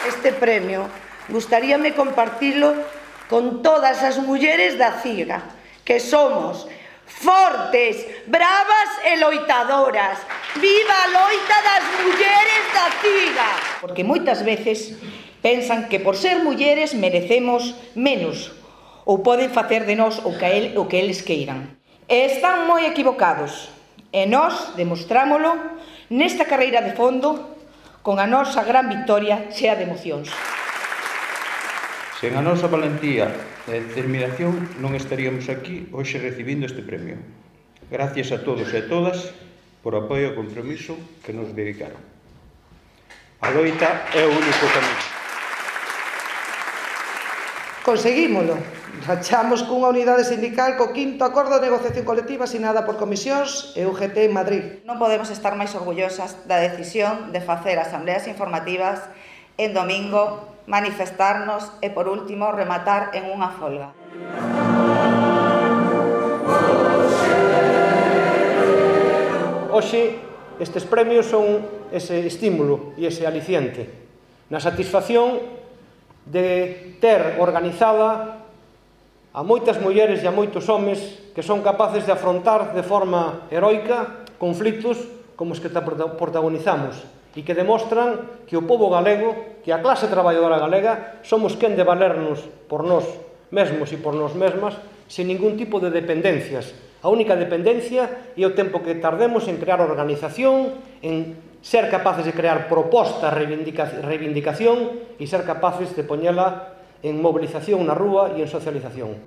Este premio gustaríame compartilo con todas as mulleres da CIGA, que somos fortes, bravas e loitadoras. Viva a loita das mulleres da CIGA! Porque moitas veces pensan que por ser mulleres merecemos menos ou poden facer de nós o que eles queiran. E están moi equivocados. E nós demostrámolo nesta carreira de fondo con a nosa gran victoria chea de emocións. Sen a nosa valentía e determinación non estaríamos aquí hoxe recibindo este premio. Gracias a todos e a todas por o apoio e o compromiso que nos dedicaron. A loita é o único camiño. Conseguímolo. Rachamos cunha unidade sindical co 5º acordo de negociación colectiva asinada por Comisións e UGT en Madrid. Non podemos estar máis orgullosas da decisión de facer asambleas informativas en domingo, manifestarnos e, por último, rematar en unha folga. Hoxe, estes premios son ese estímulo e ese aliciente na satisfacción de ter organizada a moitas mulleres e a moitos homes que son capaces de afrontar de forma heroica conflitos como os que protagonizamos e que demostran que o pobo galego, que a clase traballadora galega, somos quen de valernos por nós mesmos e por nós mesmas sin ningún tipo de dependencias. A única dependencia é o tempo que tardemos en crear organización, en ser capaces de crear propostas, reivindicación e ser capaces de poñela en movilización na rúa e en socialización.